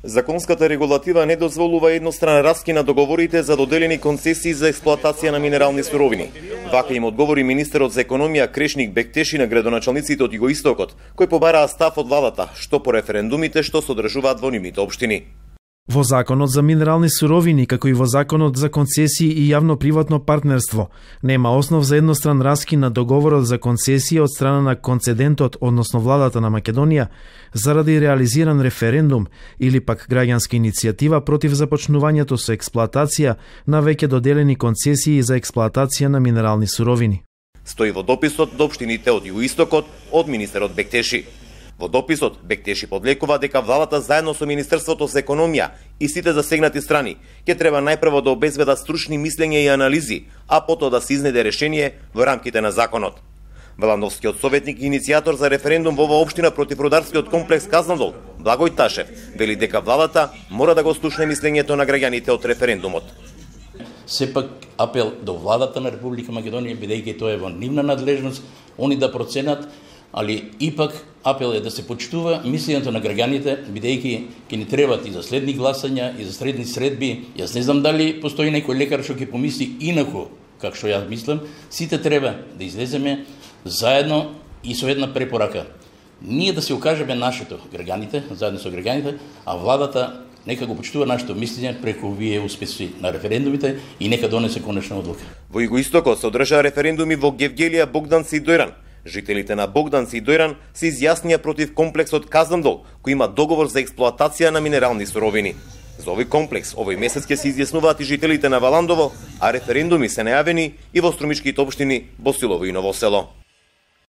Законската регулатива не дозволува едностранен раскин на договорите за доделени концесии за експлоатација на минерални суровини. Вака им одговори министерот за економија Крешник Бектеши на градоначалниците од Југоистокот, кои побараа став од владата, што по референдумите што содржуваат во нивните општини. Во Законот за минерални суровини, како и во Законот за концесии и јавно-приватно партнерство, нема основ за едностран раскин на договорот за концесија од страна на концедентот, односно владата на Македонија, заради реализиран референдум или пак граѓанска иницијатива против започнувањето со експлоатација на веќе доделени концесии за експлоатација на минерални суровини. Стои во дописот до општините од Југоистокот од министерот Бектеши. Во дописот Бектеши подлекува дека владата заедно со Министерството за економија и сите засегнати страни ќе треба најпрво да обезбедат стручни мислења и анализи, а потоа да се изнеде решение во рамките на законот. Валандовскиот советник и иницијатор за референдум во оваа општина против рударскиот комплекс Казандол, Благој Ташев, вели дека владата мора да го слушне мислењето на граѓаните од референдумот. Сепак апел до владата на Република Македонија, бидејќи тоа е во нивна надлежност, они да проценат, али ипак апел е да се почитува мислењето на граѓаните, бидејќи ќе ни требат и за следни гласања, и за следни средби. Јас не знам дали постои некој лекар што ќе помисли инаку, како што јас мислам. Сите треба да излеземе заедно и со една препорака. Ние да се окажеме нашето, граѓаните, заедно со граѓаните, а владата нека го почитува нашето мислење преку овие успеси на референдумите и нека донесе конечна одлука. Во Југоистокот се одржаа референдуми во Гевгелија, Богданци и Дојран. Жителите на Богданци и Дојран се изјаснија против комплексот Казандол, кој има договор за експлоатација на минерални суровини. За овој комплекс овој месец ќе се изјаснуваат и жителите на Валандово, а референдуми се најавени и во струмичките општини Босилово и Ново Село.